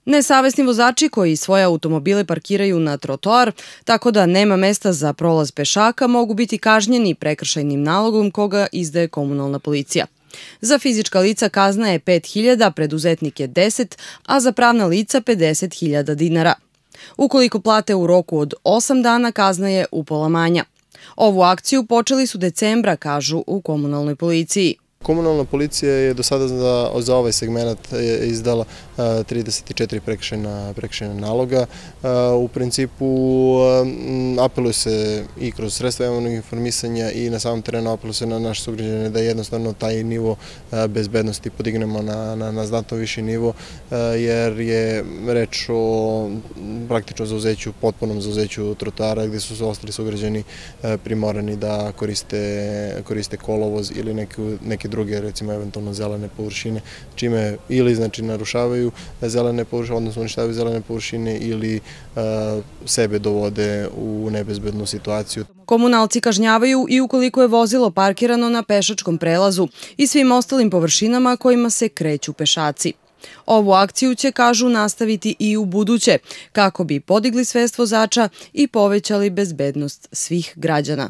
Nesavesni vozači koji svoje automobile parkiraju na trotoar, tako da nema mesta za prolaz pešaka, mogu biti kažnjeni prekršajnim nalogom koga izdaje komunalna policija. Za fizička lica kazna je 5.000, preduzetnike 10, a za pravna lica 50.000 dinara. Ukoliko plate u roku od 8 dana, kazna je upola manja. Ovu akciju počeli su decembra, kažu u komunalnoj policiji. Komunalna policija je do sada za ovaj segment izdala 34 prekršajna naloga. U principu apeluje se i kroz sredstva javnog informisanja i na samom terenu apeluje se na naše sugrađane da jednostavno taj nivo bezbednosti podignemo na znatno viši nivo, jer je reč o praktično zauzeću, potpunom zauzeću trotoara gde su ostali sugrađani primorani da koriste kolovoz ili neke druge, recimo eventualno zelene površine, čime ili znači narušavaju zelene površine, odnosno uništavaju zelene površine ili sebe dovode u nebezbednu situaciju. Komunalci kažnjavaju i ukoliko je vozilo parkirano na pešačkom prelazu i svim ostalim površinama kojima se kreću pešaci. Ovu akciju će, kažu, nastaviti i u buduće, kako bi podigli svest vozača i povećali bezbednost svih građana.